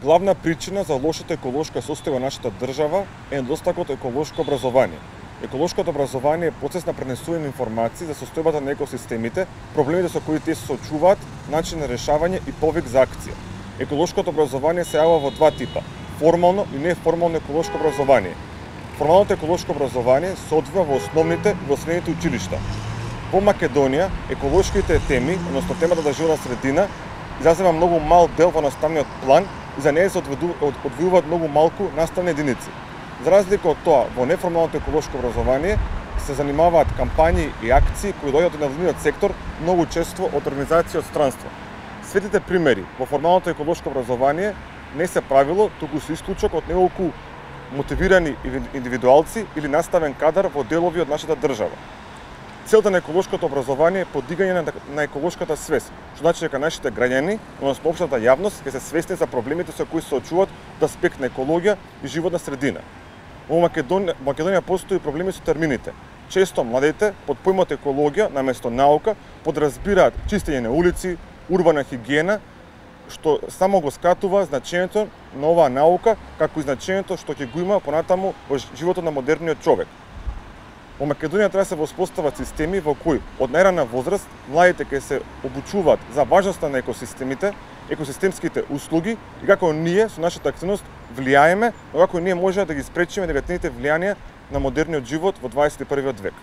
Главна причина за лошата еколошка состојба во нашата држава е недостатокот еколошко образование. Еколошкото образование е процес на пренесување на информации за состојбата на екосистемите, проблемите со кои тие се соочуваат, начин на решавање и повик за акција. Еколошкото образование се јавува во два типа: формално и неформално еколошко образование. Формалното еколошко образование се одвива во основните и во средните училишта. Во Македонија еколошките теми, односно темата за животна средина, изазема многу мал дел во наставниот план и за неја се одвојуваат многу малку наставни единици. За разлика од тоа, во неформалното еколошко образование се занимаваат кампањи и акции кои доаѓаат од невладиниот сектор, многу често од организации од странство. Светите примери во формалното еколошко образование не се правило, туку се исклучок од неколку мотивирани индивидуалци или наставен кадар во делови од нашата држава. Целта на еколошкото образование е подигање на еколошката свест, што значи дека нашите граѓани, односно општата јавност, ќе се свесни за проблемите со кои се соочуваат од аспект на екологија и животна средина. Во Македонија постои проблеми со термините. Често младите под поимот екологија наместо наука подразбираат чистење на улици, урбана хигиена, што само го скатува значењето на оваа наука, како и значењето што ќе го има понатаму во животот на модерниот човек. Во Македонија треба да се воспостават системи во кои од најрана возраст младите ќе се обучуваат за важноста на екосистемите, екосистемските услуги и како ние со нашата активност влијаеме, но како ние можеме да ги спречиме негативните влијанија на модерниот живот во 21. век.